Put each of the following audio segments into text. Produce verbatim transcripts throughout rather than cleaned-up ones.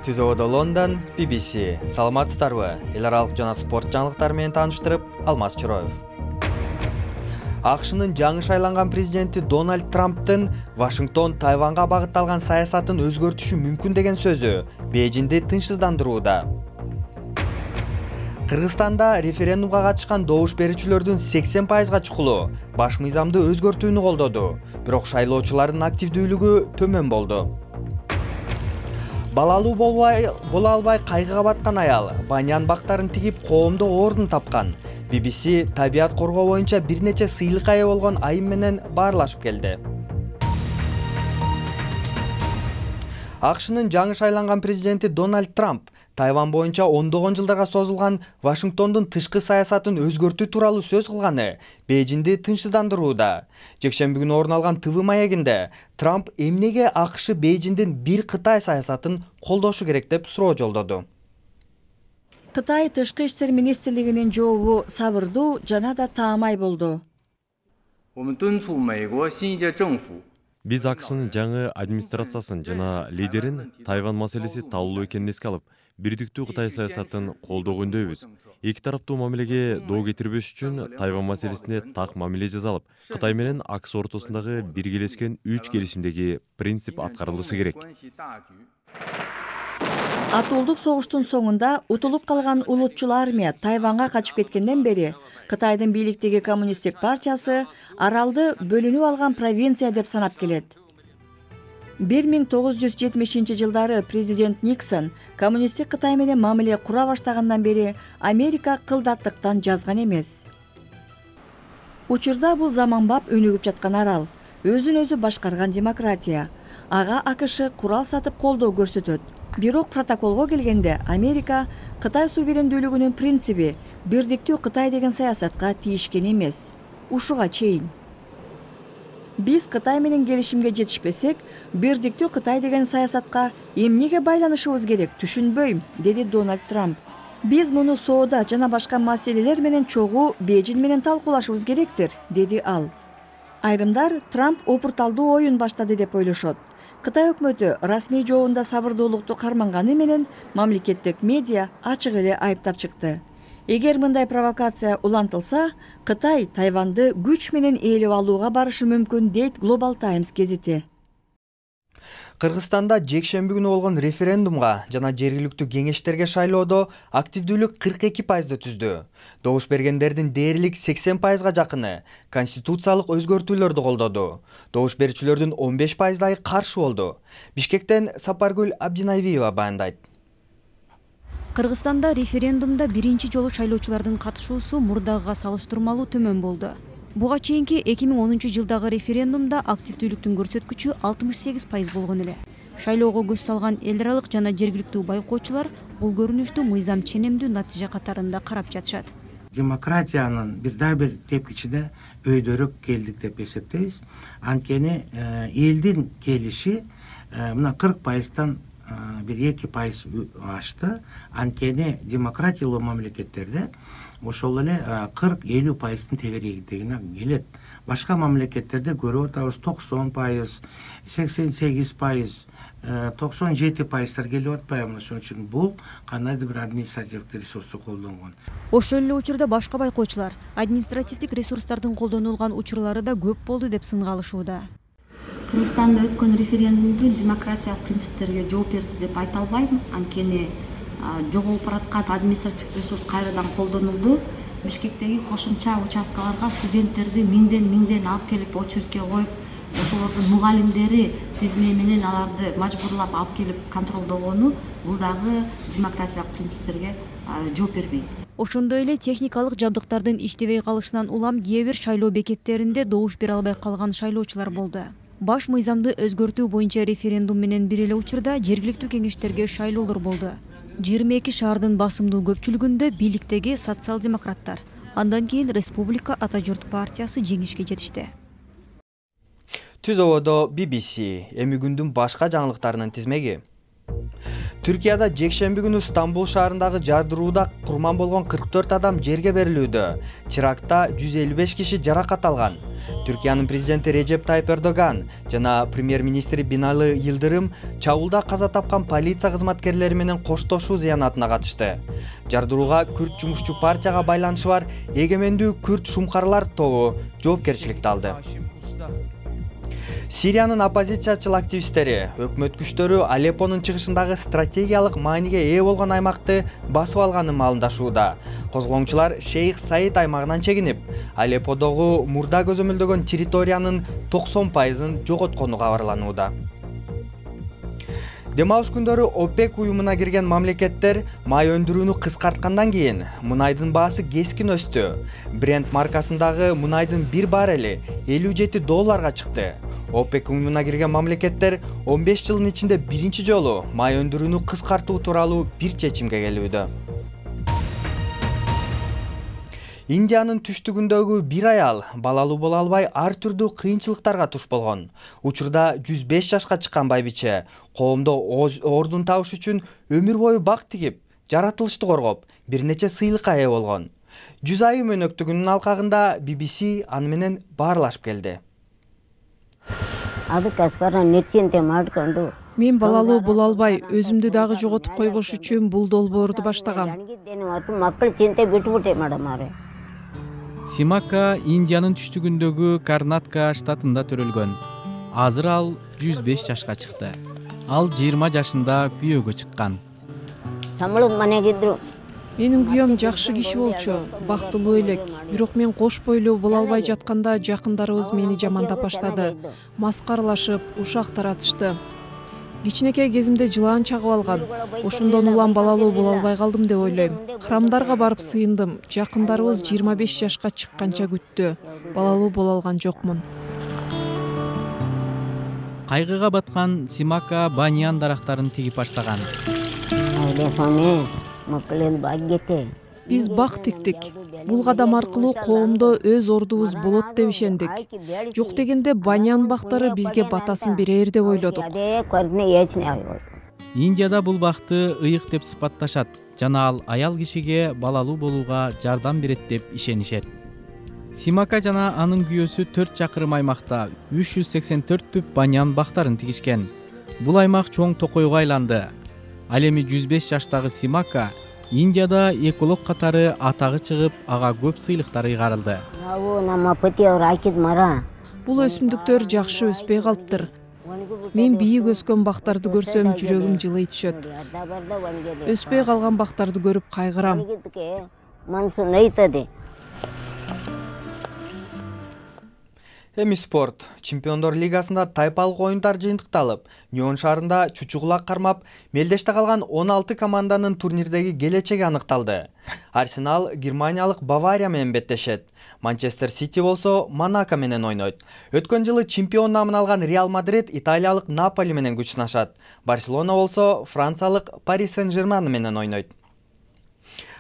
Түз абада Лондон, би би си. Саламатсыздарбы? Эл аралык жана спорт жаңылыктары менен тааныштырып, Алмаз Чороев. АКШнын жаңы шайланган президенти Дональд Трамптын Вашингтон Тайванга багытталган саясатын өзгөртүшү мүмкүн деген сөзү Бейжиңди тынчсыздандырууда. Кыргызстанда референдумга катышкан добуш берүүчүлөрдүн сексен пайызга чукулу баш мыйзамды өзгөртүүнү колдоду, бирок шайлоочулардын активдүүлүгү төмөн болду. Балалуу боло албай кайгыга баткан аял банян бактарын тигип коомдо ордун тапкан. би би си табият коргоо боюнча бир нече сыйлыкка ээ болгон айым менен баарлашып келди. АКШнын жаңы шайланган президенти Дональд Трамп Тайван боюнча ондогон жылдарга созулган Вашингтондун тышкы саясатын өзгөртүү тууралуу сөз кылганы Бейжиңди тынчсыздандырууда. Жекшемби күнү орун алган тэ вэ маегинде Трамп эмнеге АКШ Бейжиңдин бир Кытай саясатын колдошу керек деп суроо жолдоду. Кытай тышкы иштер министрлигинин жообу сабырдуу жана да таамай болду. Биз АКШнын жаңы администрациясын жана лидерин Тайван маселеси талуу экенин эске алып, бирдиктүү Кытай саясатын колдогөндөйбүз. Эки тараптуу мамилеге доо кетирбеш үчүн Тайван маселесине так мамиле жасалып, Кытай менен АКШ ортосундагы биргелешкен үч келишимдеги принцип аткарылышы керек. Атуулдук согуштун соңунда утулуп калган улутчул армия Тайванга качып кеткенден бери Кытайдын бийликтеги коммунисттик партиясы аралды бөлүнүп алган провинция деп санап келет. бир миң тогуз жүз жетимишинчи жылдары президент Никсон коммунисттик Кытай менен мамиле кура баштагандан бери Америка кылдаттыктан жазган эмес. Учурда бул заманбап өнүгүп жаткан арал, өзүн өзү башкарган демократия. Ага АКШ курал сатып колдоо көрсөтөт. Бирок протоколго келгенде Америка Кытай суверендүүлүгүнүн принциби бирдиктүү Кытай деген саясатка тийишкен эмес. Ушуга чейин. Биз Кытай менен келишимге жетишпесек, бирдиктүү Кытай деген саясатка эмнеге байланышыбыз керек түшүнбөйм, деди Дональд Трамп. Биз муну соода жана башка маселелер менен чогуу Бейжиң менен талкуулашыбыз керектир, деди ал. Айрымдар Трамп опурталдуу оюн баштады деп ойлошот. Кытай өкмөтү расмий жообунда сабырдуулукту карманганы менен мамлекеттик медиа ачык эле айыптап чыкты. Эгер мындай провокация улантылса, Кытай Тайванды күч менен ээлеп алууга барышы мүмкүн, дейт Global Times гезити. Кыргызстанда жекшемби күнү болгон референдумга жана жергиликтүү кеңештерге шайлоодо активдүүлүк кырк эки пайызды түздү. Добуш бергендердин дээрлик сексен пайызга жакыны конституциялык өзгөртүүлөрдү колдоду. Добуш берүүчүлөрдүн он беш пайыздайы каршы болду. Бишкектен Сапаргүл Абдинайбиева баяндайт. Кыргызстанда референдумда биринчи жолу шайлоочулардын катышуусу мурдагыга салыштырмалуу төмөн болду. Буга чейинки эки миң онунчу жылдагы референдумда активдүүлүктүн көрсөткүчү алтымыш сегиз пайыз болгон эле. Шайлоого көз салган эл аралык жана жергиликтүү байкоочулар бул көрүнүштү мыйзам ченемдүү натыйжа катарында карап жатышат. Демократиянын бир да бир тепкичине өйдөрүк келдик деп эсептейбиз. Анткени элдин келиши мына кырк пайыздан бир эки пайыз ашты. Анткени демократиялуу мамлекеттерде ошол эле кырк элүү пайыздын тегерегине келет. Башка мамлекеттерде көрүп атабыз токсон пайыз, сексен сегиз пайыз, токсон жети пайыздар келип атпайбы? Ошон үчүн бул кандайдыр бир административдик ресурсту колдонгон. Ошол эле учурда башка байкоочулар административдик ресурстардын колдонулган учурлары да көп болду деп сынга алышууда. Кыргызстанда өткөн референдумду демократиялык принциптерге жооп берди деп айта албайм. Анткени жоголуп бараткан административдик ресурс кайрадан колдонулду. Бишкектеги кошумча участкаларга студенттерди миңден миңден алып келип очередке коюп, ошолордун мугалимдери тизме менен аларды мажбурлап алып келип контролдогону бул дагы демократиялык принциптерге жооп бербейт. Ошондой эле техникалык жабдыктардын иштебей калышынан улам кээ бир шайлоо бекеттеринде добуш бере албай калган шайлоочулар болду. Баш мыйзамды өзгөртүү боюнча референдум менен бир эле учурда жергиликтүү кеңештерге шайлоолор болду. жыйырма эки шаардын басымдуу көпчүлүгүндө бийликтеги социал-демократтар, андан кийин Республика Ата Журт партиясы жеңишке жетишти. Түз абада би би си эми күндүн башка жаңылыктарынын тизмеги. Түркияда жекшемби күнү Стамбул шаарындагы жардырууда курман болгон кырк төрт адам жерге берилүүдө. Терактта жүз элүү беш киши жаракат алган. Түркиянын президенти Режеп Тайып Эрдоган жана премьер-министри Бинали Йылдырым чабуулда каза тапкан полиция кызматкерлери менен коштошуу зыянатына катышты. Жардырууга Күрд жумушчу партияга байланышы бар Эгемендүү Күрд шумкарлар тобу жоопкерчиликти алды. Сириянын оппозициячыл активисттери өкмөт күчтөрү Алеппонун чыгышындагы стратегиялык мааниге ээ болгон аймакты басып алганын маалымдашууда. Козголоңчулар Шейх Саид аймагынан чегинип, Алепподогу мурда көзөмөлдөгөн территориянын токсон пайызын жоготкону кабарланууда. Дем алыш күндөрү ОПЕК уюмуна кирген мамлекеттер май өндүрүүнү кыскарткандан кийин мунайдын баасы кескин өстү. Brent маркасындагы мунайдын бир баррели элүү жети долларга чыкты. ОПЕК уюмуна кирген мамлекеттер он беш жылдын ичинде биринчи жолу май өндүрүүнү кыскартуу тууралуу бир чечимге келүүдө. Индиянын түштүгүндөгү бир аял балалуу боло албай ар түрдүү кыйынчылыктарга туш болгон. Учурда жүз беш жашка чыккан байбиче коомдо ордун табыш үчүн өмүр бою бак тигип, жаратылышты коргоп, бир нече сыйлыкка ээ болгон. жүз айым өнөктүгүнүн алкагында би би си аны менен баарлашып келди. Мен балалуу боло албай, өзүмдү дагы жоготуп койбош үчүн бул долбоорду баштагам. Симака Индиянын түштүгүндөгү Карнатка штатында төрөлгөн. Азыр ал жүз беш жашка чыкты. Ал жыйырма жашында күйөөгө чыккан. Менин күйөөм жакшы киши болчу, бактылуу элек. Бирок мен кош бойлуу боло албай жатканда жакындарыбыз мени жамандап баштады. Маскаралашып, ушак таратышты. Кичинекей кезимде жылаан чагып алган. Ошондон улам балалуу боло албай калдым деп ойлойм. Храмдарга барып сыйындым. Жакындарыбыз жыйырма беш жашка чыкканча күттү. Балалуу боло алган жокмун. Кайгыга баткан Симака баньян дарактарын тигип баштаган. Биз бак тиктик. Бул кадам аркылуу коомдо өз ордубуз болот деп ишендик. Жок дегенде баньян бактары бизге батасын берер деп ойлодук. Индияда бул бакты ыйык деп сыпатташат жана ал аял кишиге балалуу болууга жардам берет деп ишенишет. Симака жана анын күйөөсү төрт чакырым аймакта үч жүз сексен төрт түп баньян бактарын тигишкен. Бул аймак чоң токойго айланды. Ал эми жүз беш жаштагы Симака Индияда эколог катары атагы чыгып, ага көп сыйлыктар ыйгарылды. Бул өсүмдүктөр жакшы өспөй калыптыр. Мен бийик өскөн бактарды көрсөм жүрөгүм жылый түшөт. Өспөй калган бактарды көрүп кайгырам. Эми спорт. Чемпиондор лигасында тайпалык оюндар жыйынтыкталып, Ньон шаарында чучугулак кармап, мелдеште калган он алты команданын турнирдеги келечеги аныкталды. Арсенал германиялык Бавария менен беттешет. Манчестер Сити болсо Монако менен ойнойт. Өткөн жылы чемпион намын алган Реал Мадрид италиялык Наполи менен күч сынашат. Барселона болсо франциялык Пари Сен-Жермен менен ойнойт.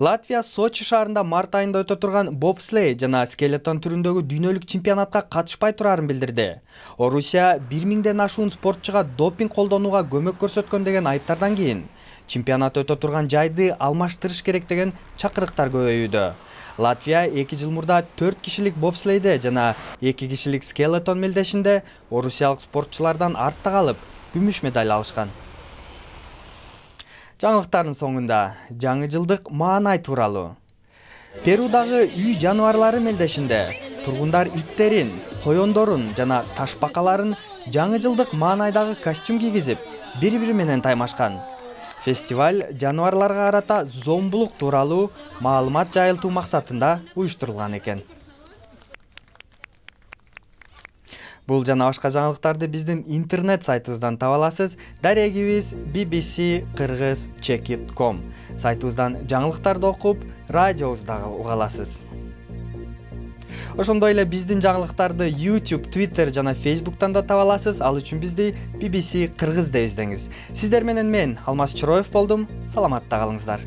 Латвия Сочи шаарында март айында өтө турган бобслей жана скелетон түрүндөгү дүйнөлүк чемпионатка катышпай турарын билдирди. Орусия бир миңден ашуун спортчуга допинг колдонууга көмөк көрсөткөн деген айыптардан кийин чемпионат өтө турган жайды алмаштырыш керек деген чакырыктар көбөйүүдө. Латвия эки жыл мурда төрт кишилик бобслейде жана эки кишилик скелетон мелдешинде орусиялык спортчулардан артта калып, күмүш медаль алышкан. Жаңылыктардын соңунда жаңы жылдык маанай тууралуу. Перудагы үй жаныбарлары мелдешинде тургундар иттерин, коёндорун жана ташбакаларын жаңы жылдык маанайдагы костюм кийгизип, бири-бири менен таймашкан. Фестиваль жаныбарларга карата зомбулук тууралуу маалымат жайылтуу максатында уюштурулган экен. Бул жана башка жаңылыктарды биздин интернет сайтыбыздан таба аласыз. Дарегибиз би би си кыргыз чек ит точка ком. Сайтыбыздан жаңылыктарды окуп, радиобузду дагы уга аласыз. Ошондой эле биздин жаңылыктарды YouTube, Twitter жана Facebooktан да таба аласыз. Ал үчүн бизди би би си кыргыз деп издеңиз. Сиздер менен мен Алмаз Чороев болдум. Саламатта калыңыздар.